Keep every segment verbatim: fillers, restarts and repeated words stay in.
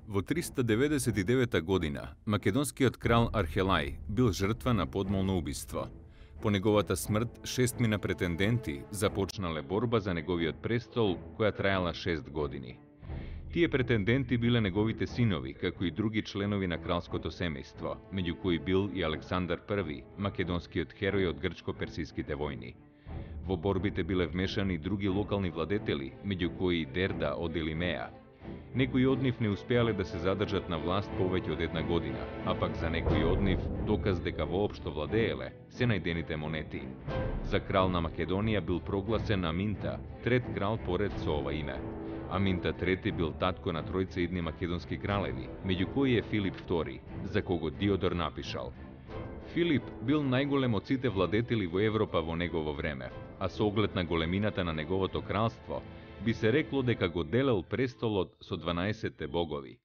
Во триста деветдесет и девета година, македонскиот крал Архелај бил жртва на подмолно убиство. По неговата смрт, шестмина претенденти започнале борба за неговиот престол, која траела шест години. Тие претенденти биле неговите синови, како и други членови на кралското семејство, меѓу кои бил и Александар Први, македонскиот херој од грчко-персиските војни. Во борбите биле вмешани и други локални владетели, меѓу кои и Дерда од Елимеја. Некои од нив не успеале да се задржат на власт повеќе од една година, а пак за некои од нив доказ дека воопшто владееле се најдените монети. За крал на Македонија бил прогласен Аминта, трет крал поред со ова име. Аминта трети бил татко на тројца идни македонски кралеви, меѓу кои е Филип втори, за кого Диодор напишал: Филип бил најголем од сите владетели во Европа во негово време, а со оглед на големината на неговото кралство, би се рекло дека го делел престолот со дванаесетте богови.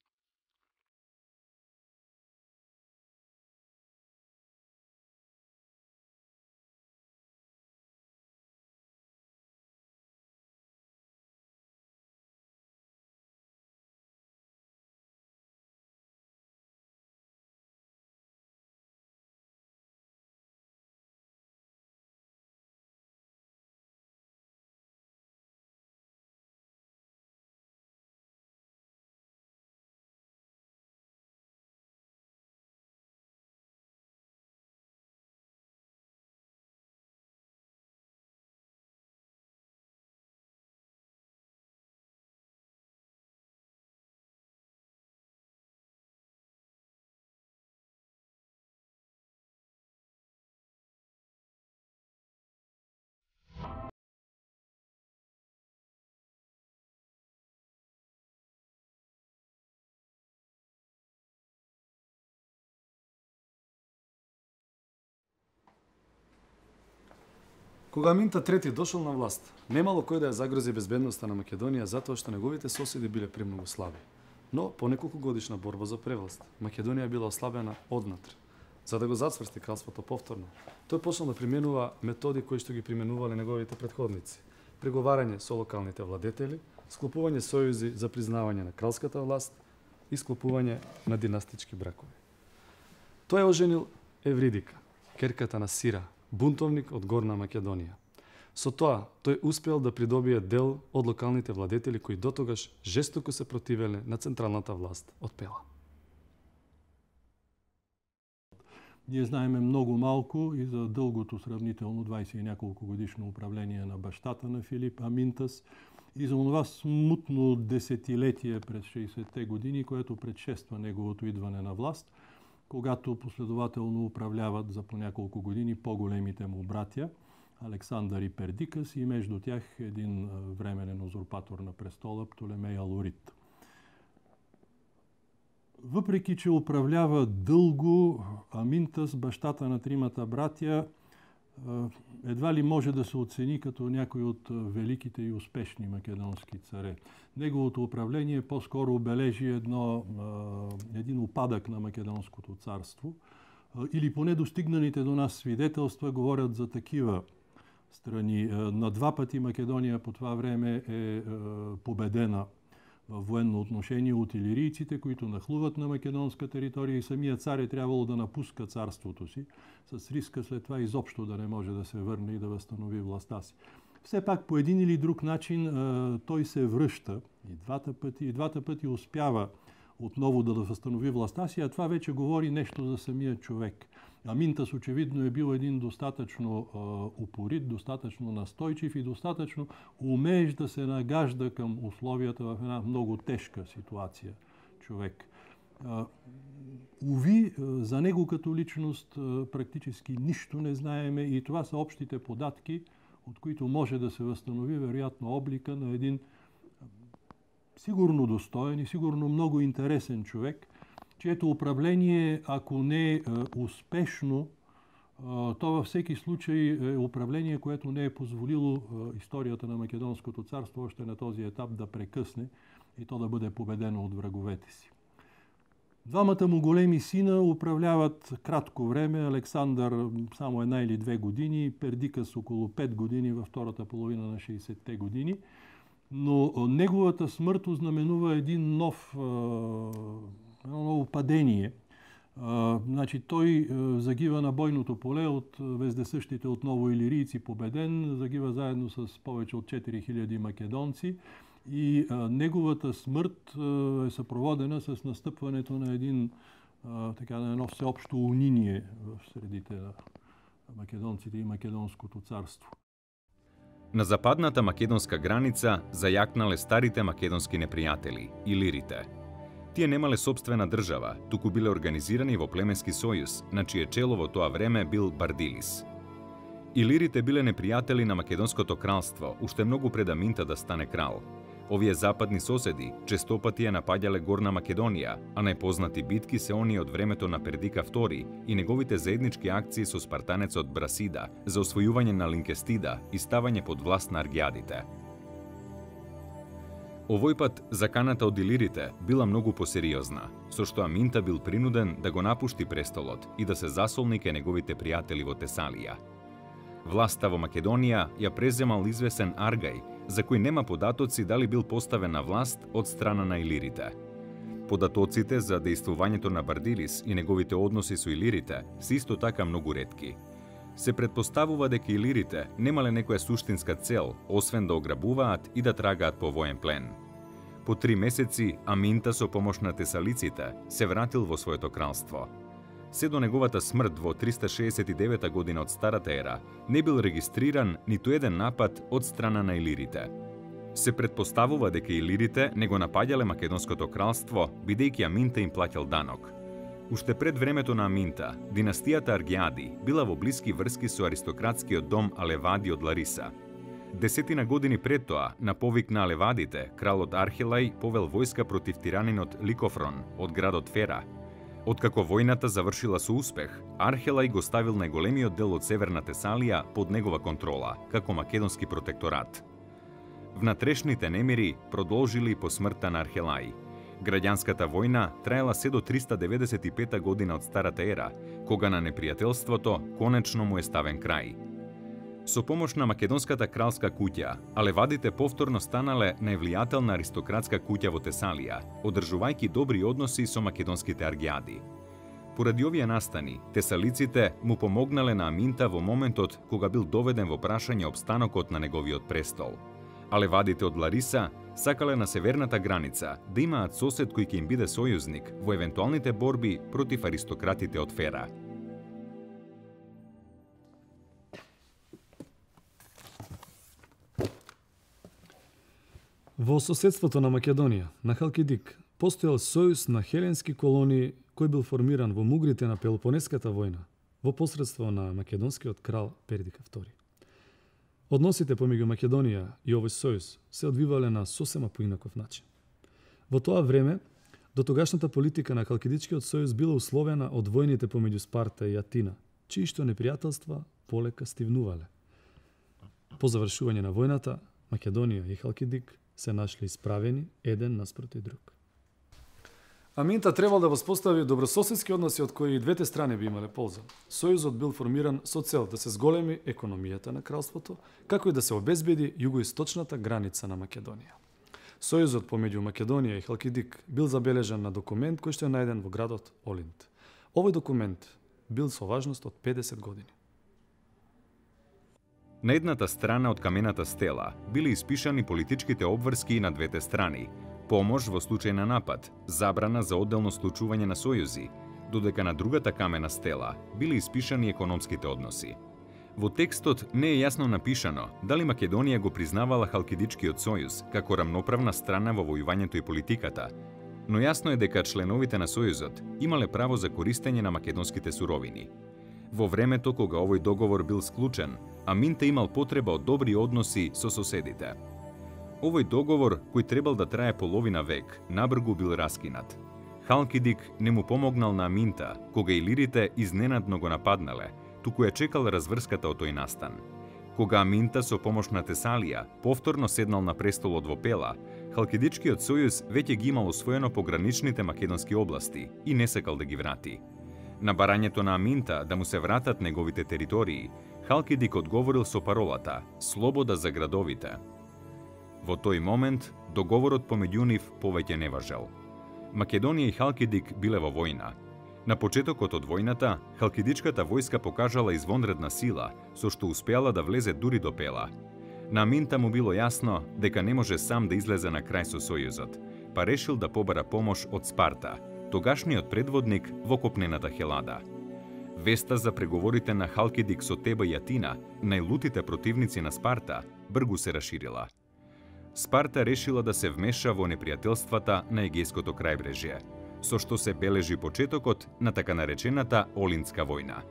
Кога Аминта трети дошол на власт, немало кој да ја загрози безбедноста на Македонија затоа што неговите соседи биле премногу слаби. Но по неколку годишна борба за превласт, Македонија била ослабена однатре. За да го зацврсти кралството повторно, тој почнал да применува методи кои што ги применувале неговите претходници: преговарање со локалните владетели, склопување сојузи за признавање на кралската власт и склопување на династички бракови. Тој е оженил Евридика, керката на Сира, бунтовник од Горна Македонија. Со тоа, тој успеал да придобие дел од локалните владетели кои дотогаш жестоко се противеле на централната власт од Пела. Ние знаеме многу малку и за дългото сравнително дваесет и няколку годишно управление на бащата на Филип Аминтас и за онова смутно десетилетие през шеесетте години, което предшества неговото идване на власт, когато последователно управляват за по няколко години по-големите му братя, Александър и Пердикас, и между тях един временен узурпатор на престола, Птолемей Алорит. Въпреки че управлява дълго, Аминтас, бащата на тримата братя, едва ли може да се оцени като някой от великите и успешни македонски царе. Неговото управление по-скоро обележи едно, един упадък на македонското царство, или поне достигнаните до нас свидетелства говорят за такива страни. На два пъти Македония по това време е победена в военно отношение от илирийците, които нахлуват на македонска територия, и самият цар е трябвало да напуска царството си, с риска след това изобщо да не може да се върне и да възстанови властта си. Все пак по един или друг начин той се връща и двата пъти, и двата пъти успява отново да възстанови властта си, а това вече говори нещо за самия човек. Аминтас очевидно е бил един достатъчно упорит, достатъчно настойчив и достатъчно умеещ да се нагажда към условията в една много тежка ситуация човек. Уви, за него като личност практически нищо не знаеме и това са общите податки, от които може да се възстанови вероятно облика на един сигурно достоен и сигурно много интересен човек, чието управление, ако не е успешно, то във всеки случай е управление, което не е позволило историята на Македонското царство още на този етап да прекъсне и то да бъде победено от враговете си. Двамата му големи сина управляват кратко време, Александър само една или две години, Пердикас около пет години във втората половина на шейсетте години. но неговата смрт ознаменува един нов, едно ново падение. Значи, тој загива на бојното поле од вездесъщите од новоилирийци победен, загива заедно с повеќе од четири хиляди македонци и неговата смрт е сопроводена с настъпването на един така на едно всеобщо униние в средите на македонците и македонското царство. На западната македонска граница зајакнале старите македонски непријатели, илирите. Тие немале сопствена држава, туку биле организирани во племенски сојуз, на чие чело во тоа време бил Бардилис. Илирите биле непријатели на македонското кралство, уште многу пред Аминта да стане крал. Овие западни соседи честопати ја напаѓале Горна Македонија, а најпознати битки се оние од времето на Пердика втори и неговите заеднички акции со спартанецот Брасида за освојување на Линкестида и ставање под власт на аргиадите. Овој пат заканата од илирите била многу посериозна, со што Аминта бил принуден да го напушти престолот и да се засолни ке неговите пријатели во Тесалија. Власта во Македонија ја преземал извесен Аргај, за кој нема податоци дали бил поставен на власт од страна на илирите. Податоците за дејствувањето на Бардилис и неговите односи со илирите се исто така многу ретки. Се предпоставува дека илирите немале некоја суштинска цел, освен да ограбуваат и да трагаат по воен плен. По три месеци Аминта со помош на тесалиците се вратил во своето кралство. Се до неговата смрт во триста шеесет и девета година од Старата ера, не бил регистриран ниту еден напад од страна на илирите. Се предпоставува дека илирите не го напаѓале македонското кралство, бидејќи Аминта им плаќал данок. Уште пред времето на Аминта, династијата Аргиади била во блиски врски со аристократскиот дом Алевади од Лариса. Десетина години пред тоа, на повик на Алевадите, кралот Архелај повел војска против тиранинот Ликофрон од градот Фера. Откако војната завршила со успех, Архелај го ставил најголемиот дел од Северна Тесалија под негова контрола, како македонски протекторат. Внатрешните немири продолжили по смртта на Архелај. Граѓанската војна траела се до триста деветдесет и пета година од Старата ера, кога на непријателството конечно му е ставен крај. Со помош на македонската кралска куќа, Алевадите повторно станале највлијателна аристократска куќа во Тесалија, одржувајќи добри односи со македонските аргиади. Поради овие настани, тесалиците му помогнале на Аминта во моментот кога бил доведен во прашање опстанокот на неговиот престол. Алевадите од Лариса сакале на северната граница да имаат сосед кој ќе им биде сојузник во евентуалните борби против аристократите од Фера. Во соседството на Македонија, на Халкидик, постоел сојуз на хеленски колонии кој бил формиран во мугрите на Пелопонеската војна во посредство на македонскиот крал Пердика втори. Односите помеѓу Македонија и овој сојуз се одвивале на сосема поинаков начин. Во тоа време, дотогашната политика на Халкидичкиот сојуз била условена од војните помеѓу Спарта и Атина, чии што непријателства полека стивнувале. По завршување на војната, Македонија и Халкидик се нашли исправени еден наспроти друг. Аминта требал да воспостави добрососедски односи од кои и двете страни би имале полза. Сојузот бил формиран со цел да се зголеми економијата на кралството, како и да се обезбеди југоисточната граница на Македонија. Сојузот помеѓу Македонија и Халкидик бил забележан на документ кој што е најден во градот Олинд. Овој документ бил со важност од педесет години. На едната страна од камената стела биле испишани политичките обврски на двете страни, помош во случај на напад, забрана за одделно склучување на сојузи, додека на другата камена стела биле испишани економските односи. Во текстот не е јасно напишано дали Македонија го признавала Халкидичкиот сојуз како рамноправна страна во војувањето и политиката, но јасно е дека членовите на сојузот имале право за користење на македонските суровини. Во времето кога овој договор бил склучен, Аминта имал потреба од добри односи со соседите. Овој договор, кој требал да трае половина век, набргу бил раскинат. Халкидик не му помогнал на Аминта, кога илирите изненадно го нападнале, туку ја чекал разврската од тој настан. Кога Аминта со помош на Тесалија повторно седнал на престолот во Пела, Халкидичкиот сојуз веќе ги имал освоено пограничните македонски области и не сакал да ги врати. На барањето на Аминта да му се вратат неговите територии, Халкидик одговорил со паролата «Слобода за градовите». Во тој момент, договорот помеѓу нив повеќе не важел. Македонија и Халкидик биле во војна. На почетокот од војната, халкидичката војска покажала извонредна сила, со што успеала да влезе дури до Пела. На Аминта му било јасно дека не може сам да излезе на крај со Сојузот, па решил да побара помош од Спарта, тогашниот предводник во копнената Хелада. Веста за преговорите на Халкидик со Теба и Атина, најлутите противници на Спарта, бргу се расширила. Спарта решила да се вмеша во непријателствата на Егејското крајбрежје, со што се бележи почетокот на така наречената Олинска војна.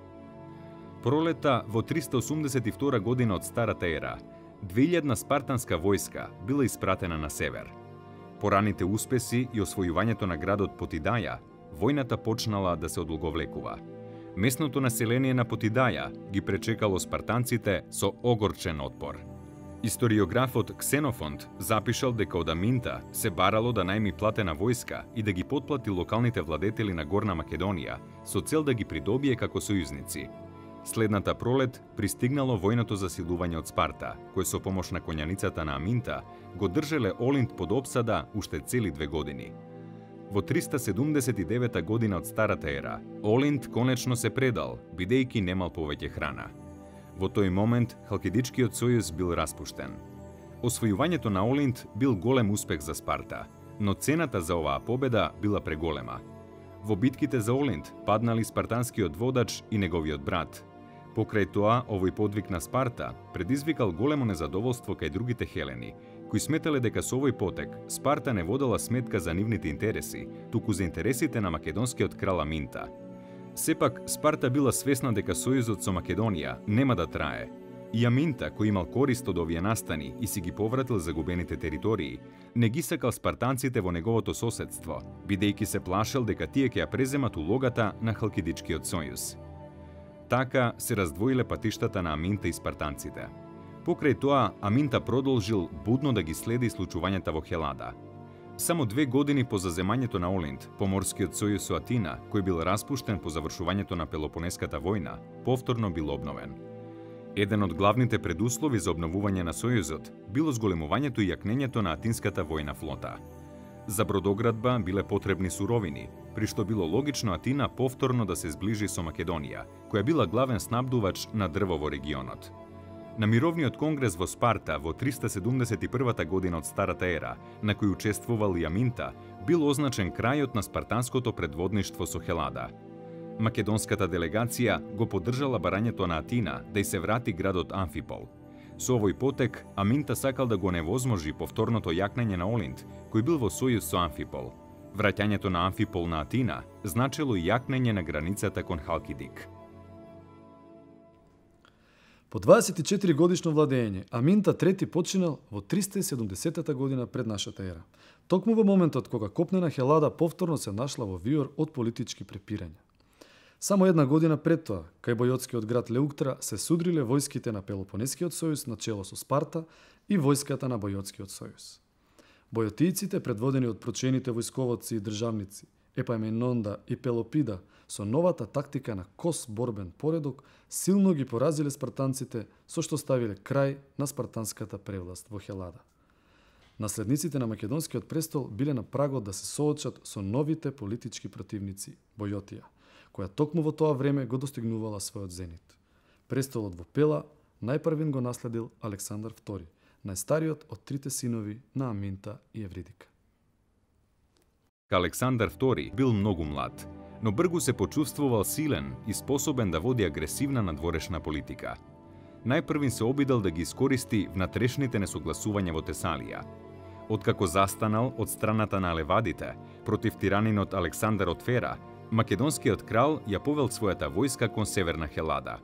Пролета во триста осумдесет и втора година од Старата ера, две илјадна спартанска војска била испратена на север. По раните успеси и освојувањето на градот Потидаја, војната почнала да се одолговлекува. Местното население на Потидаја ги пречекало спартанците со огорчен отпор. Историографот Ксенофонт запишал дека од Аминта се барало да најми платена војска и да ги потплати локалните владетели на Горна Македонија со цел да ги придобие како сојузници. Следната пролет пристигнало војното засилување од Спарта, кој со помош на коњаницата на Аминта го држеле Олинт под опсада уште цели две години. Во триста седумдесет и девета година од Старата ера, Олинт конечно се предал, бидејќи немал повеќе храна. Во тој момент Халкидичкиот сојуз бил распуштен. Освојувањето на Олинт бил голем успех за Спарта, но цената за оваа победа била преголема. Во битките за Олинт паднали спартанскиот водач и неговиот брат. Покрај тоа, овој подвиг на Спарта предизвикал големо незадоволство кај другите хелени, кои сметале дека со овој потек Спарта не водела сметка за нивните интереси, туку за интересите на македонскиот крал Аминта. Сепак, Спарта била свесна дека сојузот со Македонија нема да трае. И Аминта, кој имал корист од овие настани и си ги повратил загубените територии, не ги сакал спартанците во неговото соседство, бидејќи се плашел дека тие ќе ја преземат улогата на Халкидичкиот сојуз. Така се раздвоиле патиштата на Аминта и спартанците. Покрај тоа, Аминта продолжил будно да ги следи случувањата во Хелада. Само две години по заземањето на Олинт, поморскиот сојуз со Атина, кој бил распуштен по завршувањето на Пелопонеската војна, повторно бил обновен. Еден од главните предуслови за обновување на сојузот било зголемувањето и јакнењето на Атинската војна флота. За бродоградба биле потребни суровини, при што било логично Атина повторно да се зближи со Македонија, која била главен снабдувач на дрво во регионот. На мировниот конгрес во Спарта во триста седумдесет и првата година од Старата ера, на кој учествувал и Аминта, бил означен крајот на спартанското предводништво со Хелада. Македонската делегација го поддржала барањето на Атина да й се врати градот Амфипол. Со овој потек, Аминта сакал да го невозможи повторното јакнење на Олинт, кој бил во сојуз со Амфипол. Враќањето на Амфипол на Атина значило и јакнење на границата кон Халкидик. По дваесет и четири годишно владење, Аминта трети починал во триста и седумдесетата година пред нашата ера. Токму во моментот кога копнена Хелада повторно се нашла во виор од политички препирања. Само една година пред тоа, кај бојотскиот град Леуктра се судриле војските на Пелопонескиот сојуз на чело со Спарта и војската на Бојотскиот сојуз. Бојотијците, предводени од прочените војсковоци и државници Епаменонда и Пелопида, со новата тактика на кос борбен поредок, силно ги поразиле спартанците, со што ставиле крај на спартанската превласт во Хелада. Наследниците на македонскиот престол биле на прагот да се соочат со новите политички противници, Бојотија, која токму во тоа време го достигнувала својот зенит. Престолот во Пела најпрвен го наследил Александар втори, најстариот од трите синови на Аминта и Евридика. Александар втори бил многу млад, но бргу се почувствувал силен и способен да води агресивна надворешна политика. Најпрвин се обидел да ги искористи внатрешните несогласувања во Тесалија. Откако застанал од страната на левадите против тиранинот Александар од Фера, македонскиот крал ја повел својата војска кон северна Хелада.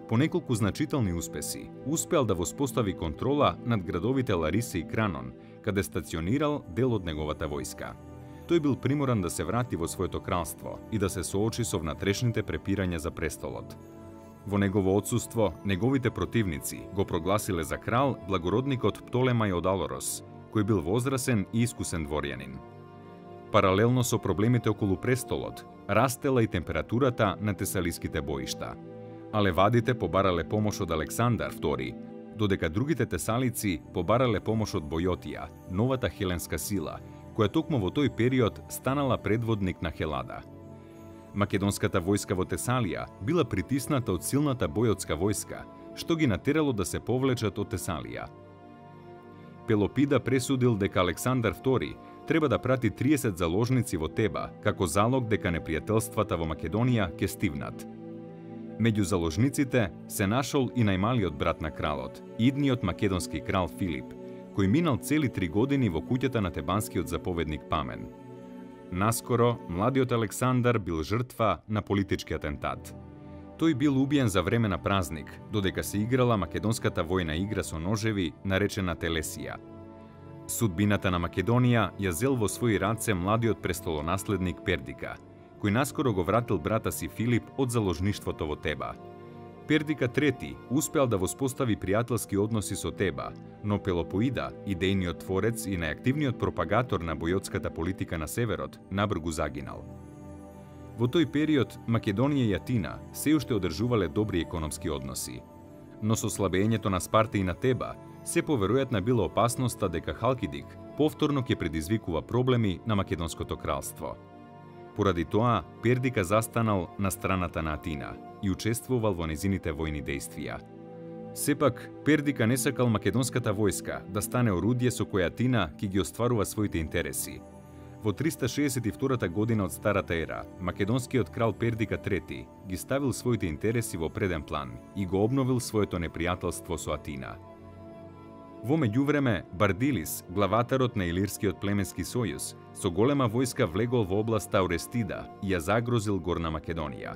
По неколку значителни успеси, успеал да воспостави контрола над градовите Лариса и Кранон, каде стационирал дел од неговата војска. Тој бил приморан да се врати во своето кралство и да се соочи со внатрешните препирања за престолот. Во негово отсуство, неговите противници го прогласиле за крал благородникот Птолемај од Алорос, кој бил возрасен и искусен дворјанин. Паралелно со проблемите околу престолот, растела и температурата на тесалиските боишта. А левадите побарале помош од Александар втори додека другите тесалици побарале помош од Бојотија, новата хеленска сила, која токму во тој период станала предводник на Хелада. Македонската војска во Тесалија била притисната од силната бојотска војска, што ги натерало да се повлечат од Тесалија. Пелопида пресудил дека Александар втори треба да прати триесет заложници во Теба, како залог дека непријателствата во Македонија ќе стивнат. Меѓу заложниците се нашол и најмалиот брат на кралот, идниот македонски крал Филип, кој минал цели три години во куќата на тебанскиот заповедник Памен. Наскоро, младиот Александар бил жртва на политички атентат. Тој бил убиен за време на празник, додека се играла македонската војна игра со ножеви, наречена Телесија. Судбината на Македонија ја зел во своји раце младиот престолонаследник Пердика, кој наскоро го вратил брата си Филип од заложништвото во Теба. Пердика трети успеал да воспостави пријателски односи со Теба, но Пелопоида, идејниот творец и најактивниот пропагатор на бојотската политика на северот, набргу загинал. Во тој период Македонија и Атина се уште одржувале добри економски односи. Но со слабењето на Спарта и на Теба, се поверојатна била опасноста дека Халкидик повторно ќе предизвикува проблеми на Македонското кралство. Поради тоа, Пердика застанал на страната на Атина и учествувал во незините војни дејствија. Сепак, Пердика не сакал македонската војска да стане орудие со кое Атина ќе ги остварува своите интереси. Во триста шеесет и втората година од Старата ера, македонскиот крал Пердика трети ги ставил своите интереси во преден план и го обновил своето непријателство со Атина. Во меѓувреме, Бардилис, главатарот на Илирскиот племенски сојуз, со голема војска влегол во областа Орестида и ја загрозил Горна Македонија.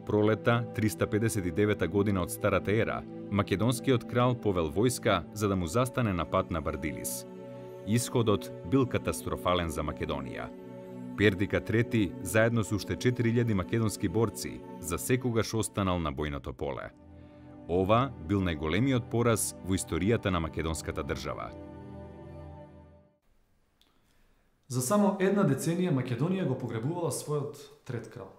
Пролета, триста педесет и девета година од Старата ера, македонскиот крал повел војска за да му застане на пат на Бардилис. Исходот бил катастрофален за Македонија. Пердика трети, заедно со уште четири илјади македонски борци, за секогаш останал на бојното поле. Ова бил најголемиот пораз во историјата на македонската држава. За само една деценија Македонија го погребувала својот трет крал.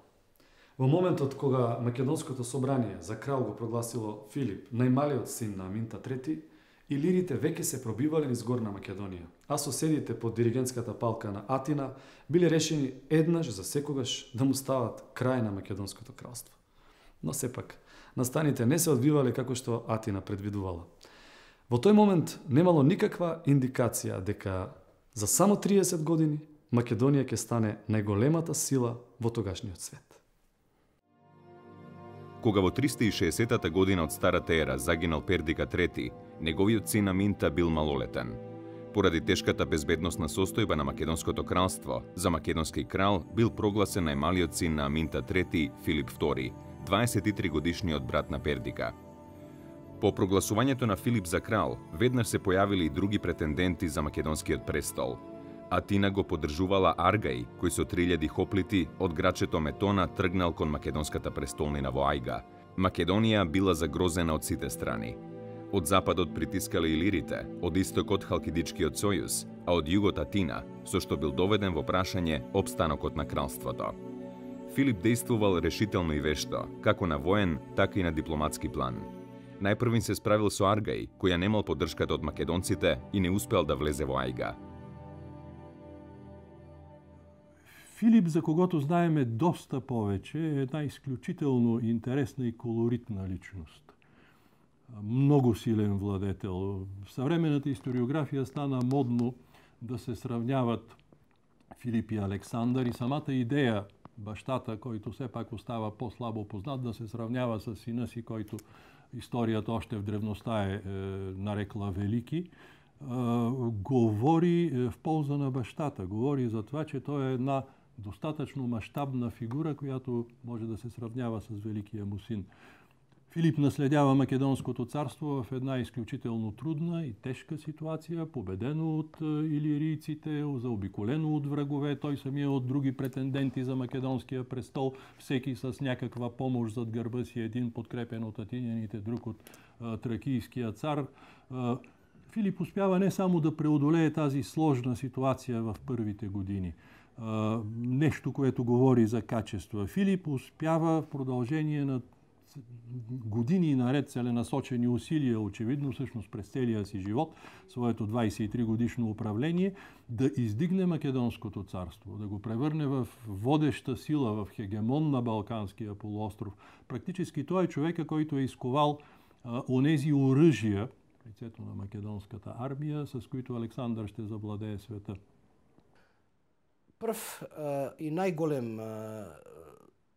Во моментот кога Македонското собрание за крал го прогласило Филип, најмалиот син на Аминта трети, илирите веќе се пробивале низ Горна Македонија, а соседите под диригентската палка на Атина биле решени еднаш за секогаш да му стават крај на Македонското кралство. Но сепак, настаните не се одвивале како што Атина предвидувала. Во тој момент немало никаква индикација дека за само триесет години Македонија ќе стане најголемата сила во тогашниот свет. Кога во триста и шеесетата година од Старата ера загинал Пердика трети, неговиот син Аминта бил малолетен. Поради тешката безбедносна состојба на Македонското кралство, за македонски крал бил прогласен најмалиот син на Аминта трети, Филип втори, дваесет и три годишниот брат на Пердика. По прогласувањето на Филип за крал, веднаш се појавили и други претенденти за македонскиот престол. Атина го поддржувала Аргај, кој со три илјади хоплити од грачето Метона тргнал кон македонската престолнина во Ајга. Македонија била загрозена од сите страни. Од западот притискале илирите, од истокот Халкидичкиот сојуз, а од југот Атина, со што бил доведен во прашање опстанокот на кралството. Филип действувал решително и вешто, како на воен, така и на дипломатски план. Најпрвин се справил со Аргај, која немал поддршката од македонците и не успеал да влезе во Ајга. Филип, за когото знаеме доста повеќе, е една исклучително интересна и колоритна личност. Многу силен владетел. В съвременната историографија стана модно да се сравняват Филип и Александар и самата идеја баштата, којто сепак остава по-слабо познат, да се сравнява с сина си, којто историјата още в древноста е, е нарекла велики, е, говори в полза на баштата. Говори за това, че тој е една достатъчно мащабна фигура, която може да се сравнява с великия му син. Филип наследява Македонското царство в една изключително трудна и тежка ситуација, победено от илирийците, заобиколено от врагове, той самия от други претенденти за македонския престол, всеки с някаква помощ зад гърба си, един подкрепен от атиняните, друг от а, тракийския цар. А, Филип успява не само да преодолее тази сложна ситуация в първите години, а, нещо, което говори за качество. Филип успява в продължение на години наред целенасочени усилия, очевидно всъщност през целия си живот, своето двадесет и три годишно управление, да издигне Македонското царство, да го превърне в водеща сила, в хегемон на Балканския полуостров. Практически той е човека, който е изковал а, онези оръжия, лицето на македонската армия, с които Александър ще завладее света. Прв а, и најголем а,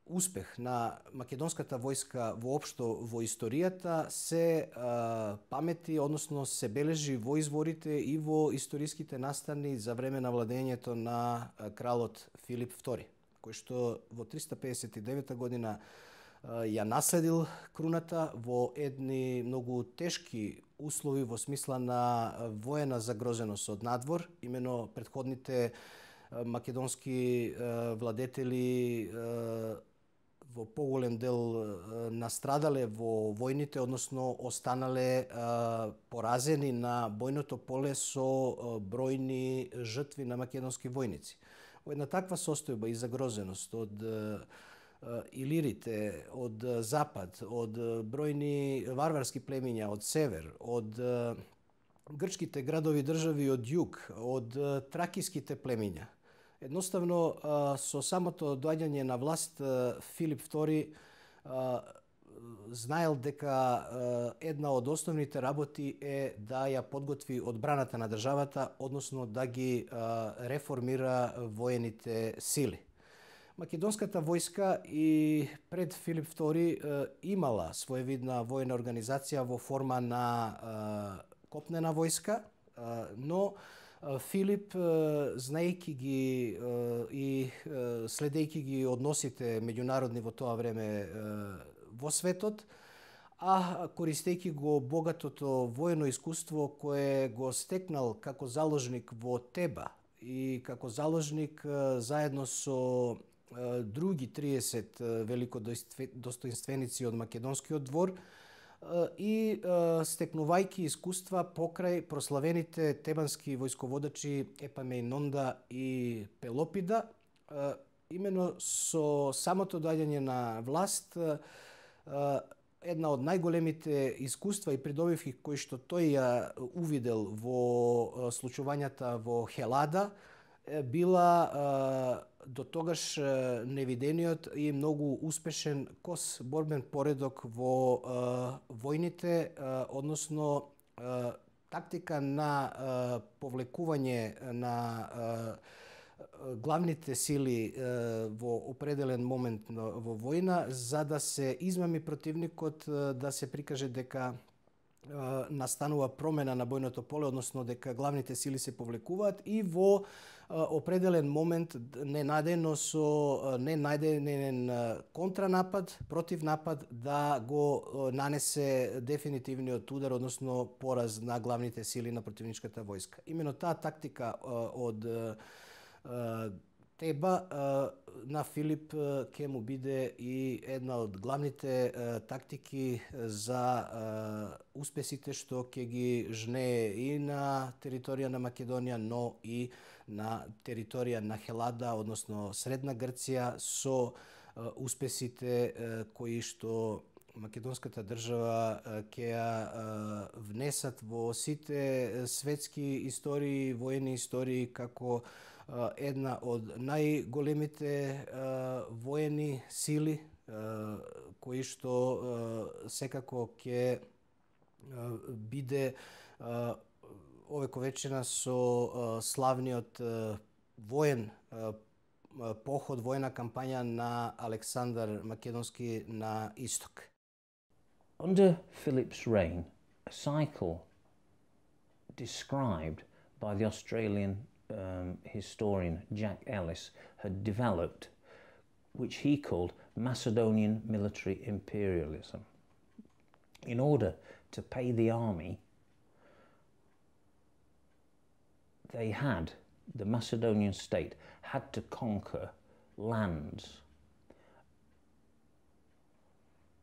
успех на македонската војска воопшто во историјата се а, памети, односно се бележи во изворите и во историските настани за време на владењето на а, кралот Филип втори, кој што во триста педесет и девета година а, ја наследил круната во едни многу тешки услови во смисла на воена загрозеност од надвор. Имено предходните а, македонски а, владетели а, во поголем дел настрадале во војните, односно останале а, поразени на бојното поле со а, бројни жртви на македонски војници. Во една таква состојба и загрозеност од а, илирите, од а, запад, од а, бројни варварски племиња од север, од а, грчките градови држави од југ, од а, тракиските племиња. Едноставно, со самото доаѓање на власт, Филип втори знаел дека една од основните работи е да ја подготви одбраната на државата, односно да ги реформира воените сили. Македонската војска и пред Филип втори имала своевидна воена организација во форма на копнена војска, но Филип, знаејќи ги и следејќи ги односите меѓународни во тоа време во светот, а користејќи го богатото воено искуство кое го стекнал како заложник во Теба и како заложник заедно со други триесет великодостоинственици од македонскиот двор, и стекнувајќи искуства покрај прославените тебански војсководачи Епамејнонда и Пелопида, имено со самото доаѓање на власт, една од најголемите искуства и придобивки кои што тој ја увидел во случувањата во Хелада, била до тогаш невидениот и многу успешен кос борбен поредок во војните, односно тактика на повлекување на главните сили во определен момент во војна, за да се измами противникот, да се прикаже дека настанува промена на бојното поле, односно дека главните сили се повлекуваат и во определен момент ненадејно со ненајден контранапад, противнапад, да го нанесе дефинитивниот удар, односно пораз на главните сили на противничката војска. Имено таа тактика од Теба на Филип ќе му биде и една од главните тактики за успесите што ќе ги жнее и на територија на Македонија, но и на територија на Хелада, односно Средна Грција, со успесите кои што македонската држава ќе ја внесат во сите светски истории, воени истории, како една од најголемите воени сили, кои што секако ќе биде овековечена со славниот воен поход, воена кампања на Александар Македонски на исток. Under Philip's reign, a cycle described by the Australian um, historian Jack Ellis had developed, which he called Macedonian military imperialism. In order to pay the army, they had, the Macedonian state had to conquer lands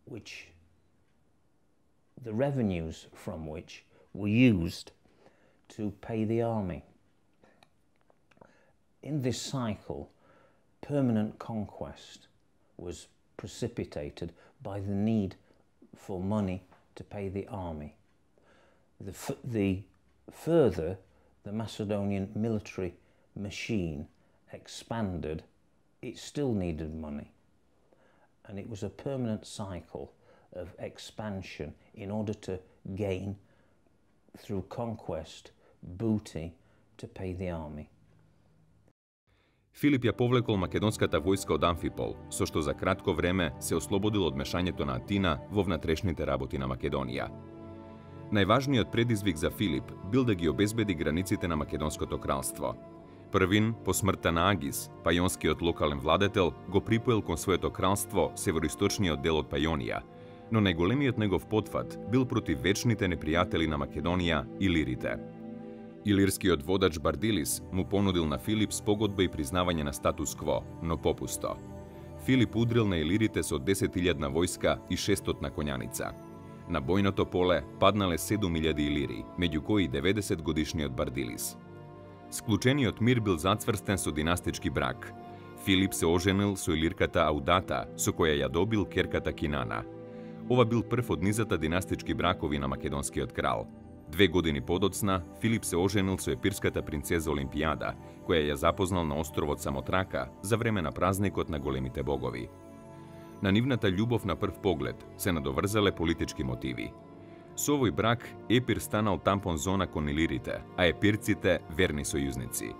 which the revenues from which were used to pay the army. In this cycle, permanent conquest was precipitated by the need for money to pay the army. The, f the further the Macedonian military machine expanded, it still needed money. And it was a permanent cycle of expansion in order to gain, through conquest, booty to pay the army. Филип ја повлекол македонската војска од Амфипол, со што за кратко време се ослободил од мешањето на Атина во внатрешните работи на Македонија. Најважниот предизвик за Филип бил да ги обезбеди границите на Македонското кралство. Првин, по смртта на Агис, пајонскиот локален владетел, го припоел кон своето кралство североисточниот дел од Пајонија, но најголемиот негов потфат бил против вечните непријатели на Македонија – илирите. Илирскиот водач Бардилис му понудил на Филип спогодба и признавање на статус-кво, но попусто. Филип удрил на илирите со десет илјадна војска и шестстотина на коњаница. На бојното поле паднале седум илјади илири, меѓу кои деветдесет годишниот Бардилис. Склучениот мир бил зацврстен со династички брак. Филип се оженил со илирката Аудата, со која ја добил керката Кинана. Ова бил прв од низата династички бракови на македонскиот крал. Две години подоцна, Филип се оженил со епирската принцеза Олимпијада, која ја запознал на островот Самотрака за време на празникот на големите богови. На нивната љубов на прв поглед се надоврзале политички мотиви. Со овој брак Епир станал тампон зона кон илирите, а епирците верни сојузници.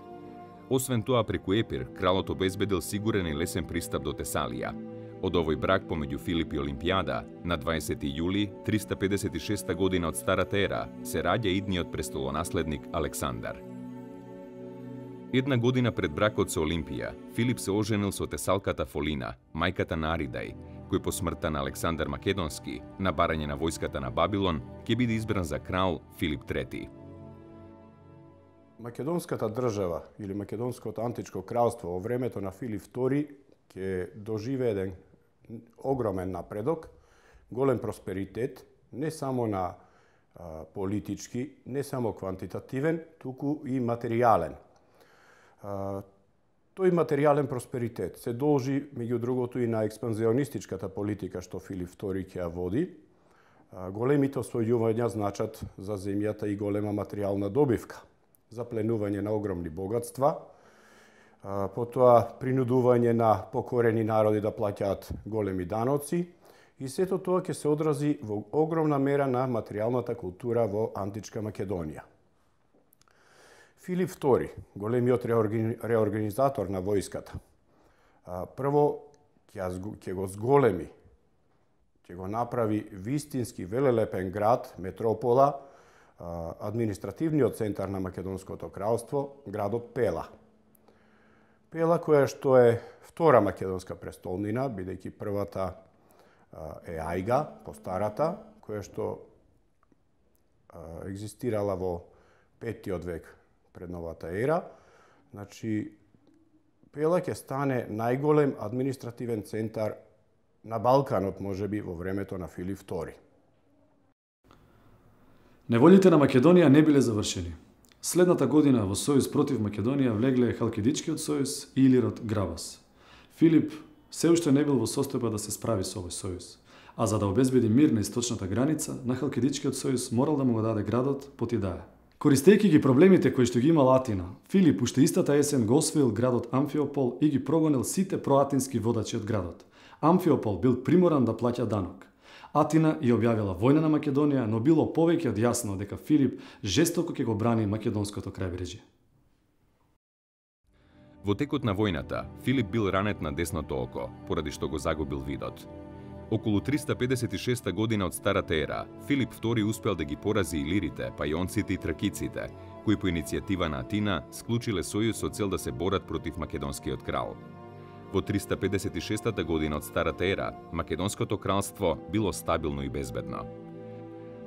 Освен тоа, преку Епир, кралот обезбедил сигурен и лесен пристап до Тесалија. Од овој брак помеѓу Филип и Олимпијада, на дваесети јули триста педесет и шеста година од Старата ера, се раѓа идниот престолонаследник Александар. Една година пред бракот со Олимпија, Филип се оженил со тесалката Фолина, мајката на Аридај, кој по смртта на Александар Македонски, на барање на војската на Бабилон, ќе биде избран за крал Филип трети. Македонската држава или Македонското античко кралство во времето на Филип втори ќе доживее еден огромен напредок, голем просперитет, не само на а, политички, не само квантитативен, туку и материјален. А, тој материјален просперитет се должи, меѓу другото, и на експанзионистичката политика што Филип втори ќе ја води. А, големите освојувања значат за земјата и голема материјална добивка, запленување на огромни богатства, потоа принудување на покорени народи да плаќаат големи даноци и сето тоа ќе се одрази во огромна мера на материјалната култура во античка Македонија. Филип втори, големиот реорганизатор на војската, прво ќе го зголеми, ќе го направи вистински велелепен град, метропола, административниот центар на Македонското кралство, градот Пела. Пела, која што е втора македонска престолнина, бидејќи првата е Ајга, постарата, која што екзистирала во петтиот век пред новата ера. Значи, Пела ќе стане најголем административен центар на Балканот, можеби во времето на Филип втори. Неволите на Македонија не биле завршени. Следната година во сојуз против Македонија влегле Халкидичкиот сојуз и Илирот Грабас. Филип се уште не бил во состојба да се справи со овој сојуз, а за да обезбеди мир на источната граница, на Халкидичкиот сојуз морал да му го даде градот Потидаја. Користејќи ги проблемите кои што ги имал Атина, Филип уште истата есен го освоил градот Амфиопол и ги прогонил сите проатински водачи од градот. Амфиопол бил приморан да плаќа данок. Атина ја објавила војна на Македонија, но било повеќе од јасно дека Филип жестоко ќе го брани македонското крајбрежје. Во текот на војната, Филип бил ранет на десното око, поради што го загубил видот. Околу триста педесет и шеста година од Старата ера, Филип втори успел да ги порази илирите, пајонците и тракиците, кои по иницијатива на Атина склучиле сојуз со цел да се борат против македонскиот крал. Во триста педесет и шеста година од Старата ера, Македонското кралство било стабилно и безбедно.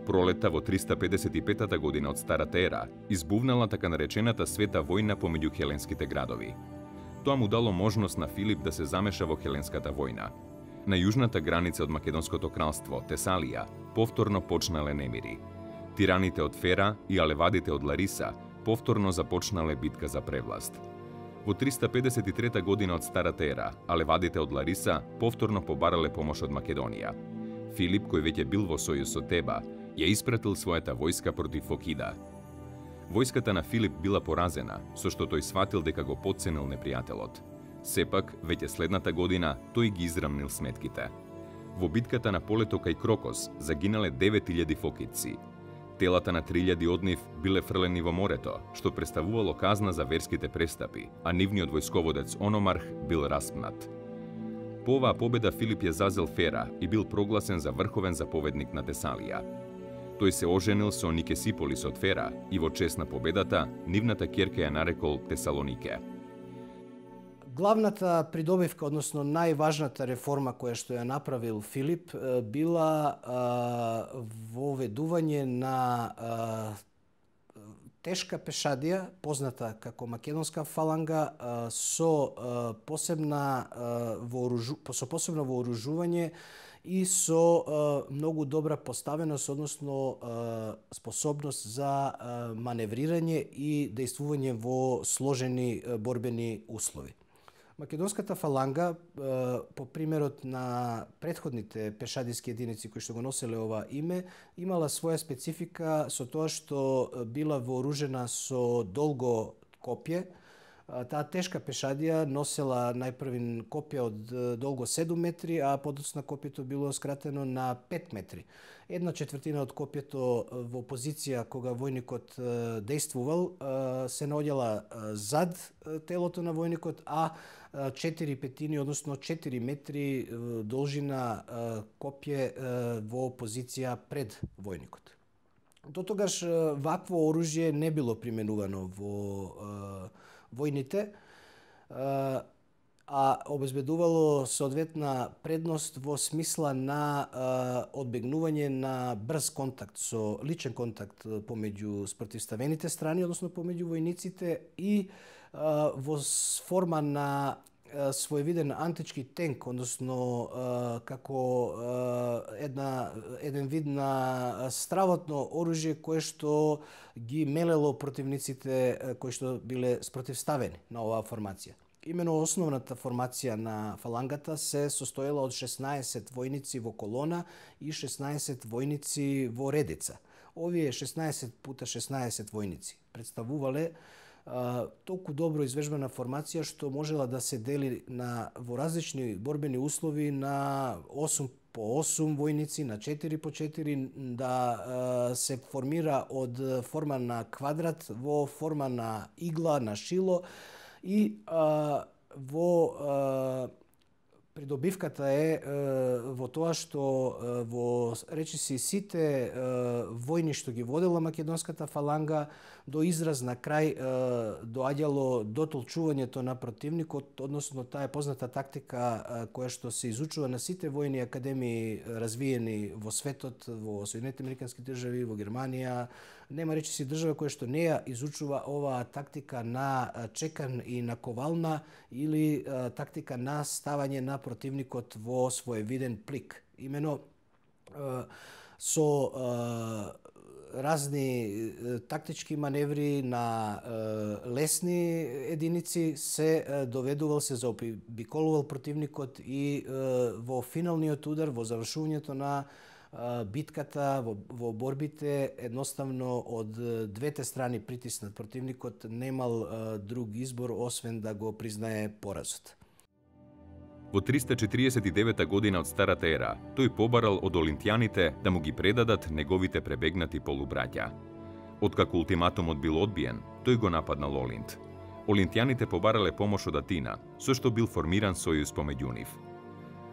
Пролета во триста педесет и пета година од Старата ера избувнала така наречената света војна помеѓу хеленските градови. Тоа му дало можност на Филип да се замеша во хеленската војна. На јужната граница од Македонското кралство, Тесалија, повторно почнале немири. Тираните од Фера и алевадите од Лариса повторно започнале битка за превласт. Во триста педесет и трета година од Старата ера, алевадите од Лариса повторно побарале помош од Македонија. Филип, кој веќе бил во сојуз со Теба, ја испратил својата војска против Фокида. Војската на Филип била поразена, со што тој сватил дека го потценил непријателот. Сепак, веќе следната година, тој ги израмнил сметките. Во битката на полето кај Крокос загинале девет илјади фокидци. Телата на три илјади од нив биле фрлени во морето, што представувало казна за верските престапи, а нивниот војсководец Ономарх бил распнат. По оваа победа Филип ја зазел Фера и бил прогласен за врховен заповедник на Тесалија. Тој се оженил со Никесиполис од Фера и во чест на победата, нивната ќерка ја нарекол Тесалонике. Главната придобивка, односно најважната реформа која што ја направил Филип, била а, воведување на а, тешка пешадија, позната како македонска фаланга, а, со а, посебна а, вооружу, со посебно вооружување и со а, многу добра поставеност, односно а, способност за а, маневрирање и дејствување во сложени а, борбени услови. Македонската фаланга, по примерот на претходните пешадиски единици кои што го носеле ова име, имала своја специфика со тоа што била вооружена со долго копје. Таа тешка пешадија носела најпрвин копје од долго седум метри, а подоцна копјето било скратено на пет метри. Една четвртина од копјето во позиција кога војникот дејствувал се наоѓала зад телото на војникот, а четири петини, односно четири метри должина копје во позиција пред војникот. До тогаш вакво оружје не било применувано во војните, а обезбедувало соодветна предност во смисла на а, одбегнување на брз контакт, со личен контакт помеѓу спротивставените страни, односно помеѓу војниците, и а, во форма на а, своевиден антички тенк, односно а, како а, една, еден вид на стравотно оружје кое што ги мелело противниците а, кои што биле спротивставени на оваа формација. Имено основната формација на фалангата се состоела од шеснаесет војници во колона и шеснаесет војници во редица. Овие шеснаесет пута шеснаесет војници представувале а, толку добро извежбана формација што можела да се дели на во различни борбени услови на осум по осум војници, на четири по четири, да а, се формира од форма на квадрат во форма на игла, на шило. И а, во а, придобивката е а, во тоа што а, во речиси сите а, војни што ги водела македонската фаланга, до израз на крај а, доаѓало дотолчувањето на противникот, односно таа е позната тактика а, која што се изучува на сите војни академии развиени во светот, во Соединетите американски држави, во Германија. Нема речиси држава која што не ја изучува оваа тактика на чекан и на ковална, или а, тактика на ставање на противникот во своевиден плик. Имено а, со а, разни тактички маневри на е, лесни единици се е, доведувал, се заобиколувал противникот и е, во финалниот удар, во завршувањето на е, битката, во, во борбите, едноставно од двете страни притиснат противникот, немал е, друг избор освен да го признае поразот. Во триста четириесет и девета година од Старата ера, тој побарал од олимпијаните да му ги предадат неговите пребегнати полубраќа. Откако ултиматумот бил одбиен, тој го нападнал Олинт. Олимпијаните побарале помош од Атина, со што бил формиран сојуз помеѓу нив.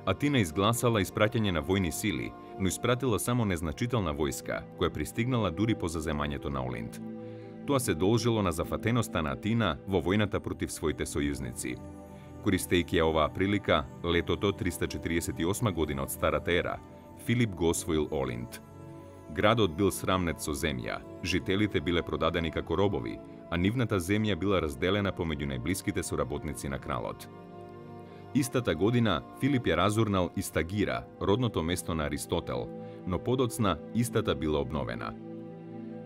Атина изгласала испраќање на војни сили, но испратила само незначителна војска, која пристигнала дури по заземањето на Олинт. Тоа се должело на зафатеноста на Атина во војната против своите сојузници. Користејќи оваа прилика, летото триста четириесет и осма година од Старата ера, Филип го освоил Олинт. Градот бил срамнет со земја, жителите биле продадени како робови, а нивната земја била разделена помеѓу најблиските соработници на кралот. Истата година Филип ја разурнал и Стагира, родното место на Аристотел, но подоцна истата била обновена.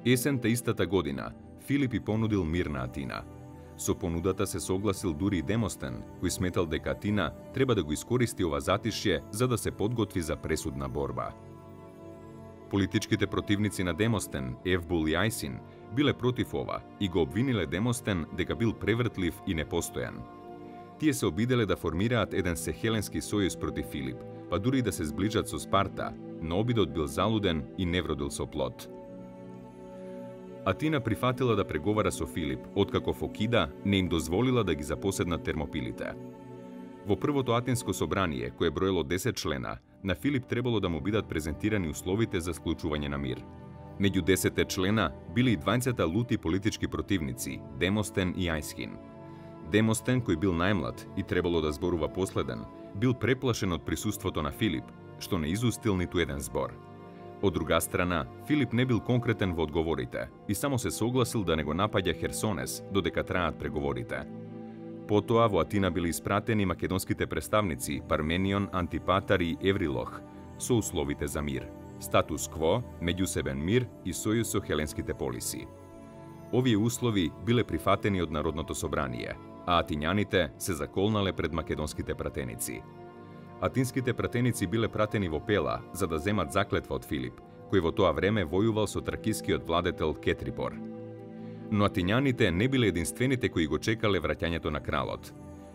Есента истата година Филип и понудил мир на Атина. Со понудата се согласил дури и Демостен, кој сметал дека Атина треба да го искористи ова затишје за да се подготви за пресудна борба. Политичките противници на Демостен, Евбул и Ајсин, биле против ова и го обвиниле Демостен дека бил превртлив и непостојан. Тие се обиделе да формираат еден сехеленски сојуз против Филип, па дури да се сближат со Спарта, но обидот бил залуден и не вродил со плод. Атина прифатила да преговара со Филип, откако Фокида не им дозволила да ги запоседнат термопилите. Во првото Атинско собрание, кое броело десет члена, на Филип требало да му бидат презентирани условите за склучување на мир. Меѓу десетте члена били и двајцата лути политички противници, Демостен и Ајсхин. Демостен, кој бил најмлад и требало да зборува последен, бил преплашен од присуството на Филип, што не изустил ниту еден збор. Од друга страна, Филип не бил конкретен во одговорите и само се согласил да не го напаѓа Херсонес додека траат преговорите. Потоа во Атина били испратени македонските представници Парменион, Антипатар и Еврилох со условите за мир, статус кво, меѓусебен мир и сојуз со хеленските полиси. Овие услови биле прифатени од Народното собрание, а атињаните се заколнале пред македонските пратеници. Атинските пратеници биле пратени во Пела за да земат заклетва од Филип, кој во тоа време војувал со тракискиот владетел Кетрибор. Но атињаните не биле единствените кои го чекале враќањето на кралот.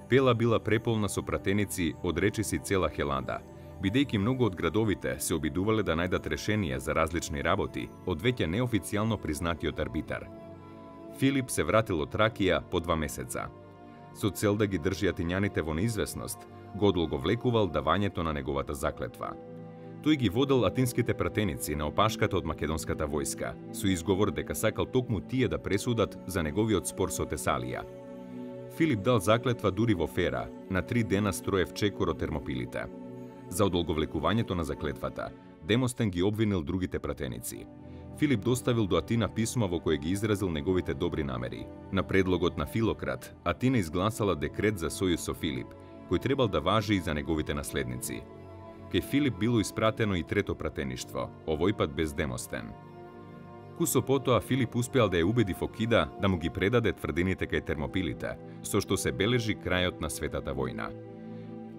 Пела била преполна со пратеници од речиси цела Хелада, бидејќи многу од градовите се обидувале да најдат решение за различни работи од веќе неофицијално признатиот арбитар. Филип се вратил од Тракија по два месеца. Со цел да ги држи атињаните во неизвестност, го одолговлекувал давањето на неговата заклетва. Тој ги водел атинските пратеници на опашката од македонската војска, со изговор дека сакал токму тие да пресудат за неговиот спор со Тесалија. Филип дал заклетва дури во Фера, на три дена строев чекор од термопилите. За одолговлекувањето на заклетвата, Демостен ги обвинил другите пратеници. Филип доставил до Атина писмо во кое ги изразил неговите добри намери. На предлогот на Филократ, Атина изгласала декрет за сојуз со Филип, кој требал да важи и за неговите наследници. Кај Филип било испратено и трето пратеништво, овој пат без Демостен. Кусо потоа Филип успеал да ја убеди Фокида да му ги предаде тврдините кај термопилите, со што се бележи крајот на светата војна.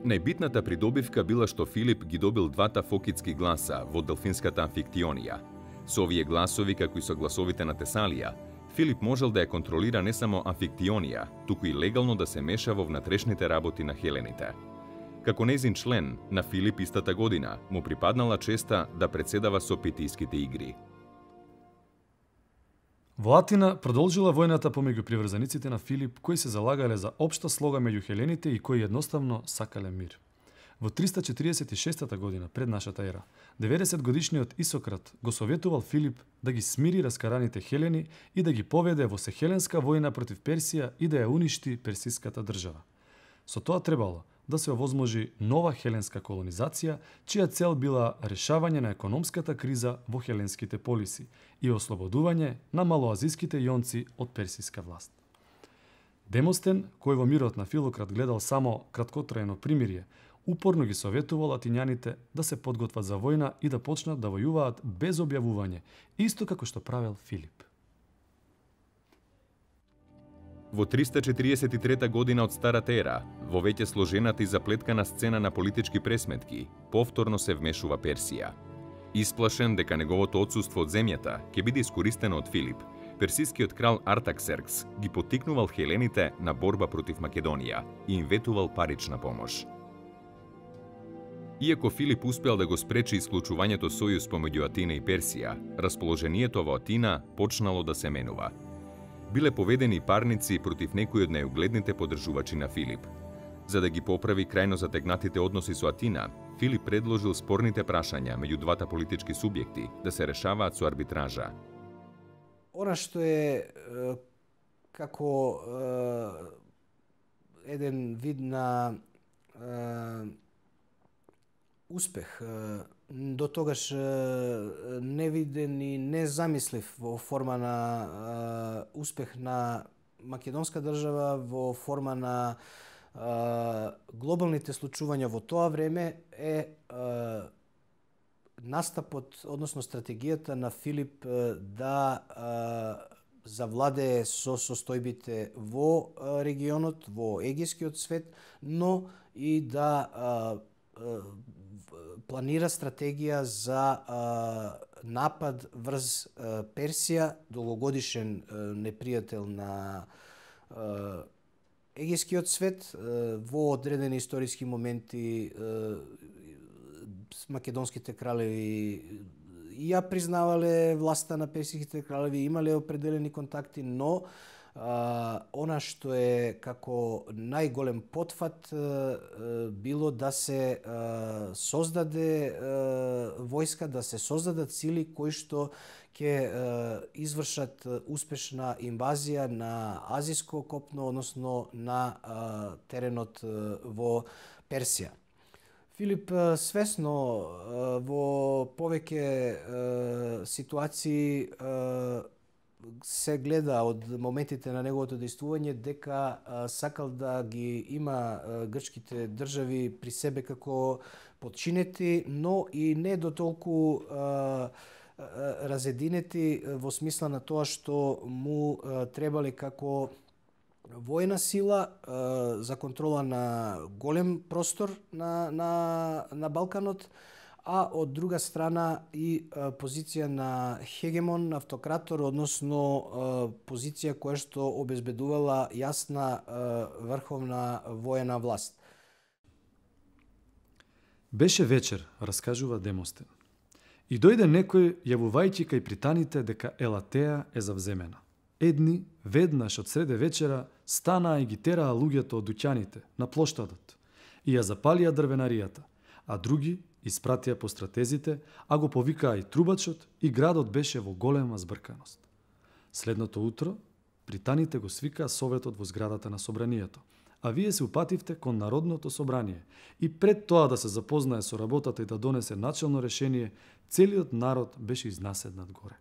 Најбитната придобивка била што Филип ги добил двата фокидски гласа во Делфинската амфиктионија. Со овие гласови, како и со гласовите на Тесалија, Филип можел да ја контролира не само амфиктионија, туку и легално да се меша во внатрешните работи на хелените. Како нејзин член, на Филип истата година му припаднала честа да председава со Питиските игри. Во Атина продолжила војната помеѓу приврзаниците на Филип, кои се залагале за општа слога меѓу хелените и кои едноставно сакале мир. Во триста четиридесет и шеста година пред нашата ера, деветдесет годишниот Исократ го советувал Филип да ги смири раскараните хелени и да ги поведе во сехеленска војна против Персија и да ја уништи персиската држава. Со тоа требало да се овозможи нова хеленска колонизација, чија цел била решавање на економската криза во хеленските полиси и ослободување на малоазиските јонци од персиска власт. Демостен, кој во мирот на Филократ гледал само краткотрајно примирие, упорно ги советувал атињаните да се подготват за војна и да почнат да војуваат без објавување, исто како што правел Филип. Во триста четириесет и трета година од Старата ера, во веќе сложената и заплеткана сцена на политички пресметки, повторно се вмешува Персија. Исплашен дека неговото отсуство од земјата ќе биде искористено од Филип, персискиот крал Артаксеркс ги поттикнувал хелените на борба против Македонија и им ветувал парична помош. Иако Филип успеал да го спречи исклучувањето сојуз помеѓу Атина и Персија, расположението во Атина почнало да се менува. Биле поведени парници против некои од најугледните поддржувачи на Филип. За да ги поправи крајно затегнатите односи со Атина, Филип предложил спорните прашања меѓу двата политички субјекти да се решаваат со арбитража. Она што е како еден вид на успех, до тогаш невиден и незамислив во форма на успех на македонска држава, во форма на глобалните случувања во тоа време е настапот, односно стратегијата на Филип да завладее со состојбите во регионот, во егејскиот свет, но и да а, а, планира стратегија за а, напад врз а, Персија, долгогодишен а, непријател на а, егејскиот свет. А, во одредени историски моменти а, македонските кралеви и ја признавале власта на персиските кралеви, имале определени контакти, но а, она што е како најголем потфат а, било да се а, создаде а, војска, да се создадат сили кои што ќе извршат успешна инвазија на азиско копно, односно на а, теренот а, во Персија. Филип свесно во повеќе ситуации се гледа од моментите на неговото действување дека сакал да ги има грчките држави при себе како подчинети, но и не до толку разединети во смисла на тоа што му требале како војна сила за контрола на голем простор на, на, на Балканот, а од друга страна и позиција на хегемон, автократор, односно позиција која што обезбедувала јасна врховна воена власт. Беше вечер, раскажува Демостен. И дојде некој јавувајќи кај пританите дека Елатеја е завземена. Едни, веднаш од среде вечера, станаа и ги тераа луѓето од дуќаните на плоштадот и ја запалија дрвенаријата, а други испратија по стратезите, а го повикаа и трубачот, и градот беше во голема збрканост. Следното утро, пританите го свикаа советот во зградата на собранието, а вие се упативте кон Народното собрание и пред тоа да се запознае со работата и да донесе начелно решение, целиот народ беше изнаседнат горе.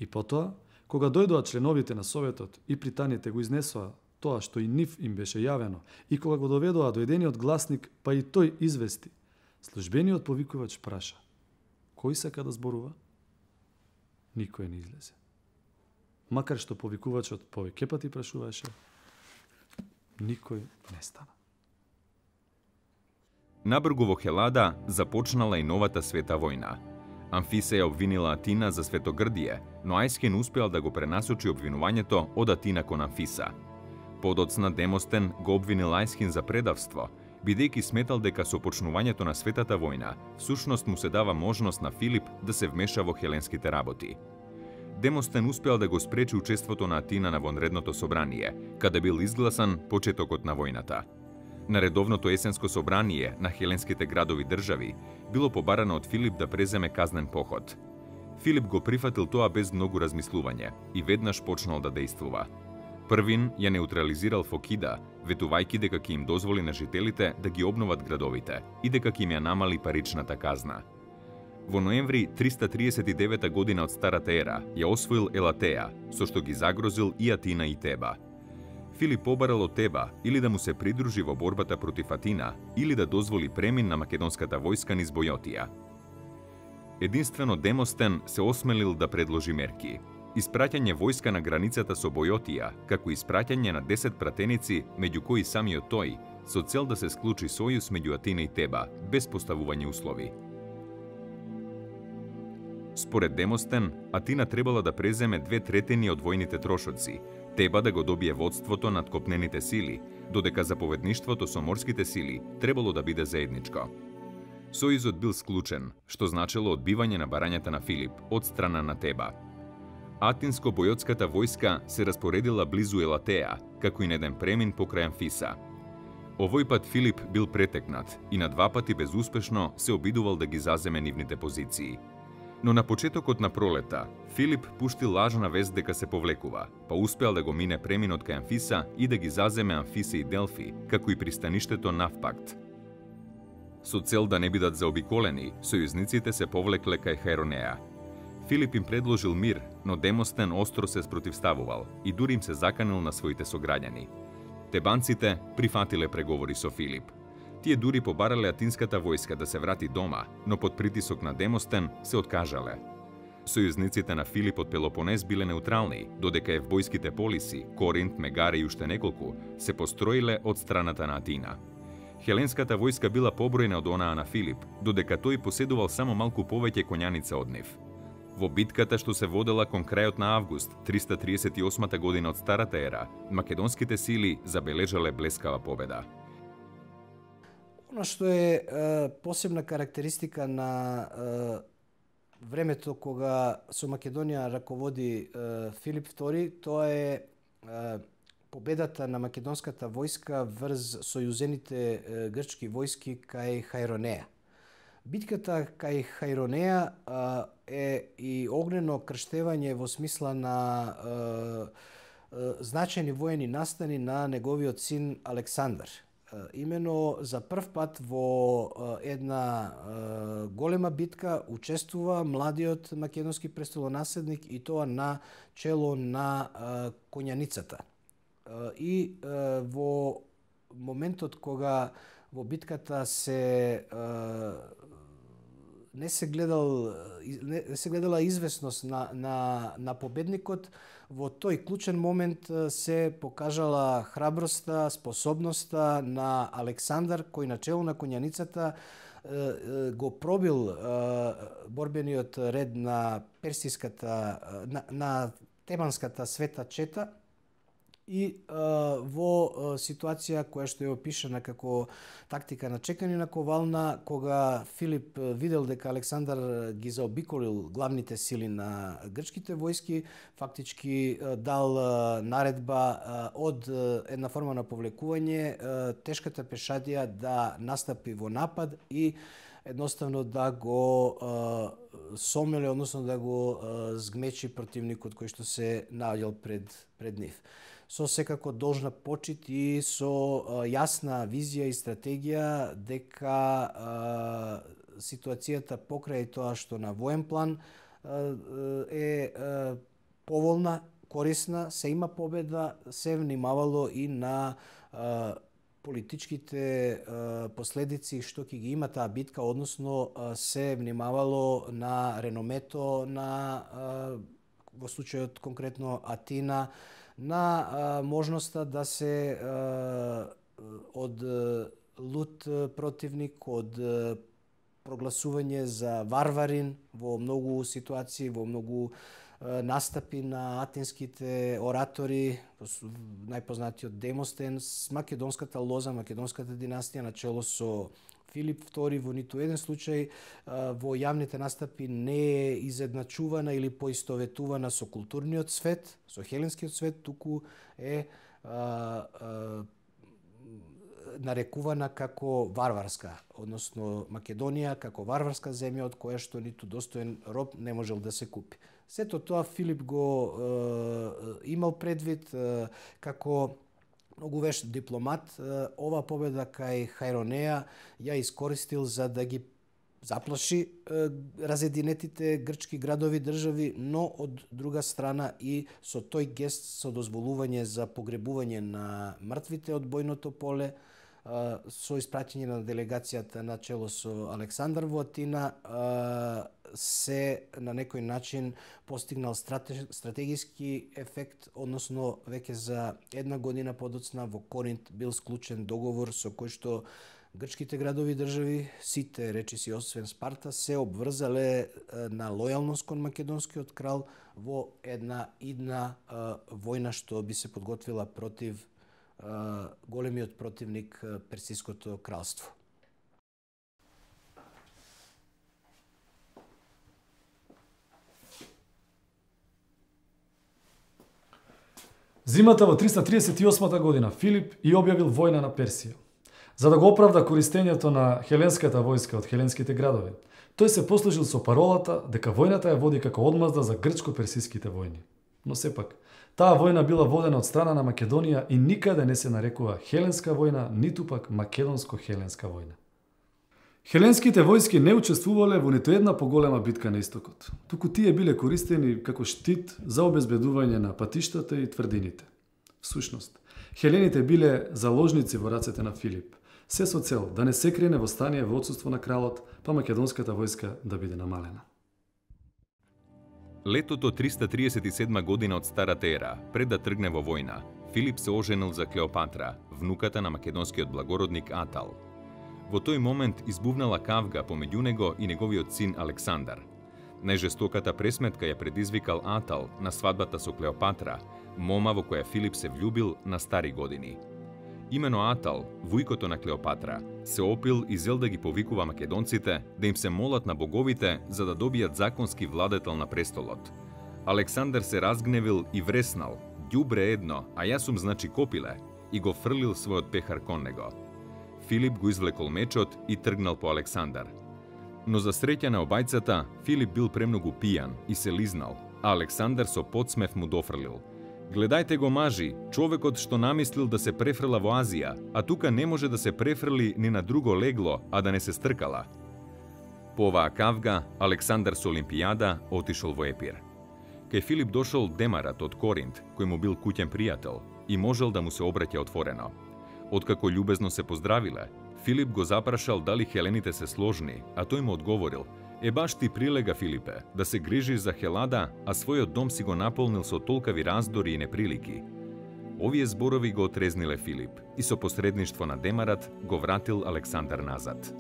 И потоа, кога дојдоа членовите на Советот и пританите го изнесоа тоа што и нив им беше јавено, и кога го доведоа до едениот гласник, па и тој извести, службениот повикувач праша: кој сака да зборува? Никој не излезе. Макар што повикувачот повеќе пати прашуваше, никој не стана. Набргу во Хелада започнала и новата света војна. Амфиса ја обвинила Атина за светогрдие, но Ајскен успеал да го пренасочи обвинувањето од Атина кон Амфиса. Подоцна Демостен го обвинил Ајскен за предавство, бидејќи сметал дека со почнувањето на светата војна, всушност му се дава можност на Филип да се вмеша во хеленските работи. Демостен успеал да го спречи учеството на Атина на вонредното собрание, каде бил изгласан почетокот на војната. На редовното есенско собрание на хеленските градови држави било побарано од Филип да преземе казнен поход. Филип го прифатил тоа без многу размислување и веднаш почнал да действува. Првин ја неутрализирал Фокида, ветувајќи дека ќе им дозволи на жителите да ги обноват градовите и дека ќе им ја намали паричната казна. Во ноември триста триесет и девета година од Старата ера ја освоил Елатеја, со што ги загрозил и Атина и Теба. Филип побарал од Теба или да му се придружи во борбата против Атина, или да дозволи премин на македонската војска низ Бојотија. Единствено Демостен се осмелил да предложи мерки. Испраќање војска на границата со Бојотија, како испраќање на десет пратеници, меѓу кои самиот тој, со цел да се склучи сојуз меѓу Атина и Теба, без поставување услови. Според Демостен, Атина требала да преземе две третини од војните трошоци, Теба да го добие водството над копнените сили, додека заповедништвото со морските сили требало да биде заедничко. Сојузот бил склучен, што значело одбивање на барањата на Филип од страна на Теба. Атинско-бојотската војска се распоредила близу Елатеја, како и на еден премин покрај Амфиса. Овој пат Филип бил претекнат и на два пати безуспешно се обидувал да ги заземе нивните позиции. Но на почетокот на пролета, Филип пушти лажна вест дека се повлекува, па успеал да го мине преминот кај Амфиса и да ги заземе Амфиса и Делфи, како и пристаништето Навпакт. Со цел да не бидат заобиколени, сојузниците се повлекле кај Хаеронеја. Филип им предложил мир, но Демостен остро се спротивставувал и дури им се заканил на своите сограѓани. Тебанците прифатиле преговори со Филип. Тие дури побарале атинската војска да се врати дома, но под притисок на Демостен се откажале. сојузниците на Филип од Пелопонез биле неутрални, додека евбојските полиси, Коринт, Мегаре и уште неколку, се построиле од страната на Атина. Хеленската војска била побројна од онаа на Филип, додека тој поседувал само малку повеќе коњаница од нив. Во битката што се водела кон крајот на август триста триесет и осма година од Старата ера, македонските сили забележале блескава победа. Оно што е, е посебна карактеристика на е, времето кога со Македонија раководи е, Филип втори, тоа е, е победата на македонската војска врз сојузените е, грчки војски кај Хајронеја. Битката кај Хајронеја е и огнено крштевање во смисла на е, е, значајни воени настани на неговиот син Александар. Имено за прв пат во една голема битка учествува младиот македонски престолонаследник и тоа на чело на коњаницата. И во моментот кога во битката се не се гледал не се гледала известност на на на победникот, во тој клучен момент се покажала храброста, способноста на Александар, кој на чело на коњаницата го пробил борбениот ред на персиската на, на Тебанската света чета и во ситуација која што е опишана како тактика на чекање на ковална, кога Филип видел дека Александар ги заобиколил главните сили на грчките војски, фактички дал наредба од една форма на повлекување тешката пешадија да настапи во напад и едноставно да го сомеле, односно да го згмечи противникот кој што се наоѓал пред пред нив. Со секако должна почит и со а, јасна визија и стратегија дека а, ситуацијата покрај тоа што на воен план а, е а, поволна, корисна, се има победа, се внимавало и на а, политичките а, последици што ќе ги има таа битка, односно а, се внимавало на реномето на а, во случајот конкретно Атина, на а, можноста да се а, од лут противник, од прогласување за варварин во многу ситуации, во многу а, настапи на атинските оратори, најпознатиот Демостен, македонската лоза, македонската династија на чело со Филип втори во ниту еден случај во јавните настапи не е изедначувана или поистоветувана со културниот свет, со хеленскиот свет, туку е а, а, нарекувана како варварска, односно Македонија како варварска земја од која што ниту достоен роб не можел да се купи. Сето тоа Филип го е, имал предвид е, како многу вешт дипломат. Ова победа кај Хајронеја ја искористил за да ги заплаши е, разединетите грчки градови држави, но од друга страна и со тој гест со дозволување за погребување на мртвите од бојното поле, со испраќање на делегацијата на чело со Александар во Атина, се на некој начин постигнал стратегиски ефект, односно веќе за една година подоцна во Коринт бил склучен договор со кој што грчките градови држави, сите речиси освен Спарта, се обврзале на лојалност кон македонскиот крал во една идна војна што би се подготвила против големиот противник Персиското кралство. Зимата во триста триесет и осма година Филип и објавил војна на Персија. За да го оправда користењето на хеленската војска од хеленските градови, тој се послужил со паролата дека војната ја води како одмазда за грчко-персиските војни. Но сепак, таа војна била водена од страна на Македонија и никаде не се нарекува хеленска војна, ниту пак македонско-хеленска војна. Хеленските војски не учествувале во ниту една поголема битка на истокот, туку тие биле користени како штит за обезбедување на патиштата и тврдините. Всушност, хелените биле заложници во рацете на Филип, се со цел да не се крене восстание во отсуство на кралот, па македонската војска да биде намалена. Летото триста триесет и седма година од Старата ера, пред да тргне во војна, Филип се оженил за Клеопатра, внуката на македонскиот благородник Атал. Во тој момент избувнала кавга помеѓу него и неговиот син Александар. Најжестоката пресметка ја предизвикал Атал на свадбата со Клеопатра, мома во која Филип се влюбил на стари години. Имено Атал, вујкото на Клеопатра, се опил и зел да ги повикува македонците да им се молат на боговите за да добијат законски владетел на престолот. Александар се разгневил и вреснал: "Ѓубре едно, а јас сум значи копиле", и го фрлил својот пехар кон него. Филип го извлекол мечот и тргнал по Александар. Но за среќа на обајцата, Филип бил премногу пијан и се лизнал, а Александар со подсмев му дофрлил: "Гледајте го, мажи, човекот што намислил да се префрла во Азија, а тука не може да се префрли ни на друго легло, а да не се стркала." По оваа кавга, Александар со Олимпијада отишол во Епир. Кај Филип дошол Демарат од Коринт, кој му бил куќен пријател, и можел да му се обраќа отворено. Откако љубезно се поздравиле, Филип го запрашал дали хелените се сложни, а тој му одговорил: "Е баш ти прилега, Филипе, да се грижиш за Хелада, а својот дом си го наполнил со толкави раздори и неприлики." Овие зборови го отрезниле Филип и со посредништво на Демарат го вратил Александар назад.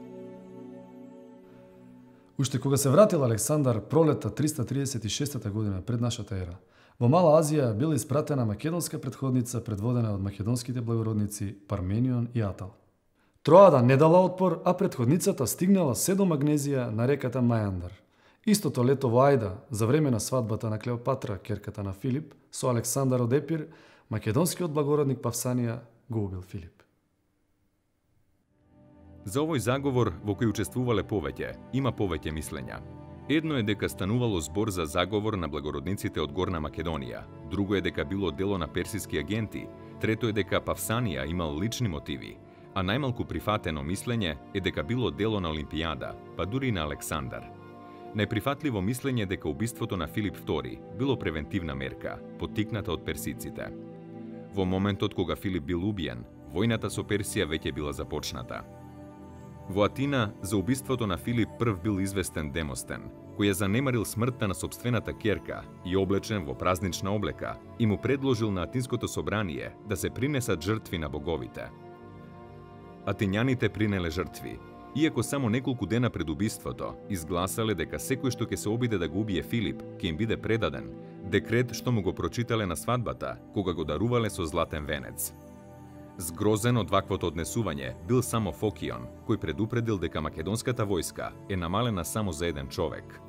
Уште кога се вратил Александар пролетта триста триесет и шеста година пред нашата ера, во Мала Азија била испратена македонска претходница предводена од македонските благородници Парменион и Атал. Троада не дала отпор, а претходницата стигнала се до Магнезија на реката Мајандар. Истото лето во Ајда, за време на свадбата на Клеопатра, керката на Филип, со Александар од Епир, македонскиот благородник Павсанија го убил Филип. За овој заговор, во кој учествувале повеќе, има повеќе мислења. Едно е дека станувало збор за заговор на благородниците од Горна Македонија, друго е дека било дело на персиски агенти, трето е дека Павсанија имал лични мотиви, а најмалку прифатено мислење е дека било дело на Олимпијада, па дури на Александар. Најприфатливо мислење е дека убиството на Филип втори било превентивна мерка, поттикната од персиците. Во моментот кога Филип бил убиен, војната со Персија веќе била започната. Во Атина, за убиството на Филип прв бил известен Демостен, кој ја занемарил смртта на собствената ќерка и облечен во празнична облека, и му предложил на Атинското собрание да се принесат жртви на боговите. Атињаните принеле жртви, иако само неколку дена пред убиството изгласале дека секој што ќе се обиде да го убие Филип ќе им биде предаден, декрет што му го прочитале на свадбата, кога го дарувале со златен венец. Згрозен од ваквото однесување бил само Фокион, кој предупредил дека македонската војска е намалена само за еден човек.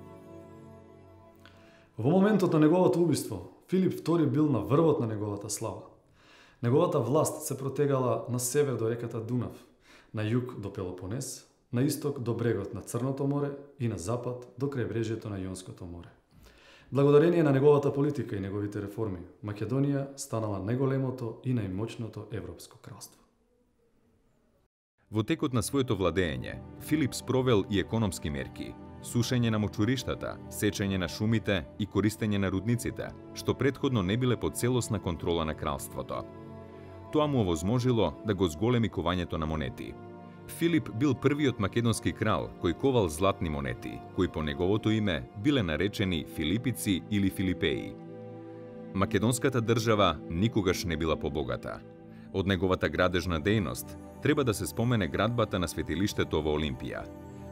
Во моментот на неговото убиство, Филип втори бил на врвот на неговата слава. Неговата власт се протегала на север до реката Дунав, на југ до Пелопонес, на исток до брегот на Црното море и на запад до крајбрежјето на Јонското море. Благодарение на неговата политика и неговите реформи, Македонија станала најголемото и најмоćното европско кралство. Во текот на своето владење, Филип спровел и економски мерки, сушење на мочуриштата, сечење на шумите и користење на рудниците, што претходно не биле под целосна контрола на кралството. Тоа му овозможило да го зголеми кувањето на монети. Филип бил првиот македонски крал кој ковал златни монети, кои по неговото име биле наречени Филипици или Филипеи. Македонската држава никогаш не била побогата. Од неговата градежна дејност треба да се спомене градбата на светилиштето во Олимпија.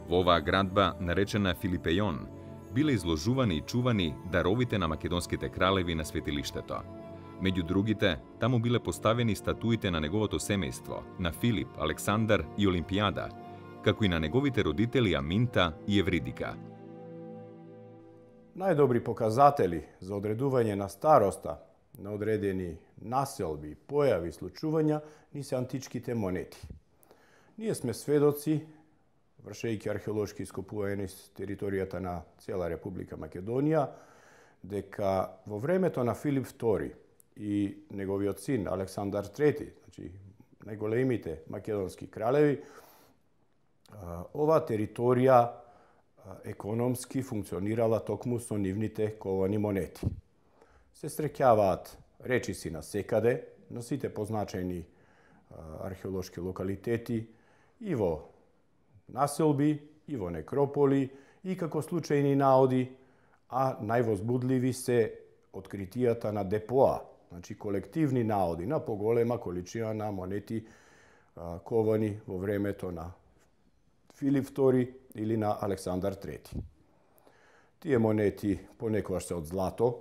Во оваа градба, наречена Филипејон, биле изложувани и чувани даровите на македонските кралеви на светилиштето. Меѓу другите, таму биле поставени статуите на неговото семејство, на Филип, Александар и Олимпијада, како и на неговите родители Аминта и Евридика. Најдобри показатели за одредување на староста на одредени населби, појави, случувања ни се античките монети. Ние сме сведоци, вршејќи археолошки ископувања низ територијата на цела Република Македонија, дека во времето на Филип втори и неговиот син Александар трети, значи најголемите македонски кралеви, оваа територија економски функционирала токму со нивните ковани монети. Се среќаваат речиси на секаде, на сите позначајни археолошки локалитети, и во населби, и во некрополи, и како случајни наоди, а највозбудливи се откритијата на депоа, значи колективни наоди на поголема количина на монети а, ковани во времето на Филип втори или на Александар трети. Тие монети понекогаш се од злато,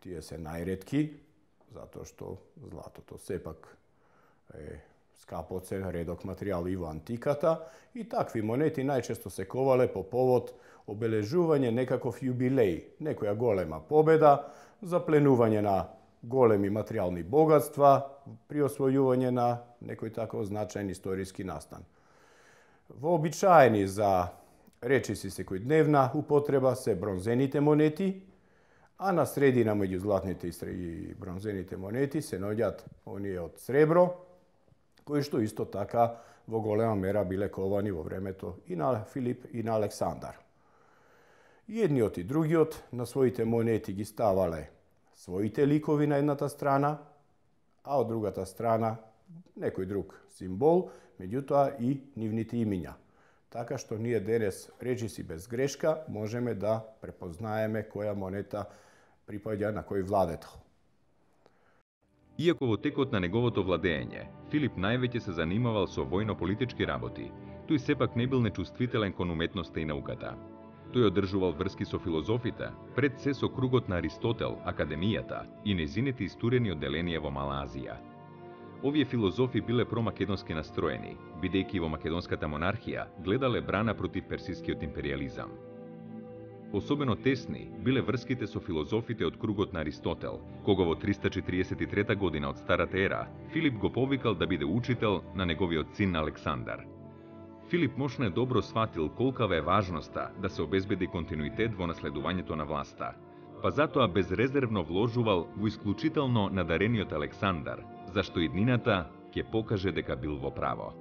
тие се најретки, затоа што златото сепак е скапоцен редок материјал и во антиката, и такви монети најчесто се ковале по повод обележување некаков јубилеј, некоја голема победа, запленување на големи материјални богатства, при освојување на некој таков значаен историски настан. Вообичаени за речиси секојдневна употреба се бронзените монети, а на средина меѓу златните и бронзените монети се наоѓаат оние од сребро, кои што исто така во голема мера биле ковани во времето и на Филип и на Александар. И едниот и другиот на своите монети ги ставале своите ликови на едната страна, а од другата страна некој друг символ, меѓутоа и нивните имиња. Така што ние денес, речиси без грешка, можеме да препознаеме која монета припаѓа на кој владетел. Иако во текот на неговото владење, Филип највеќе се занимавал со војно-политички работи, тој сепак не бил нечувствителен кон уметноста и науката. Тој одржувал врски со филозофите, пред се со кругот на Аристотел, Академијата и незините истурени одделенија во Мала Азија. Овие филозофи биле промакедонски настроени, бидејќи во македонската монархија гледале брана против персискиот империализам. Особено тесни биле врските со филозофите од кругот на Аристотел, кога во триста четириесет и трета година од Старата ера Филип го повикал да биде учител на неговиот син Александар. Филип мошне добро сватил колкава е важноста да се обезбеди континуитет во наследувањето на власта, па затоа безрезервно вложувал во исклучително надарениот Александар, зашто иднината ќе покаже дека бил во право.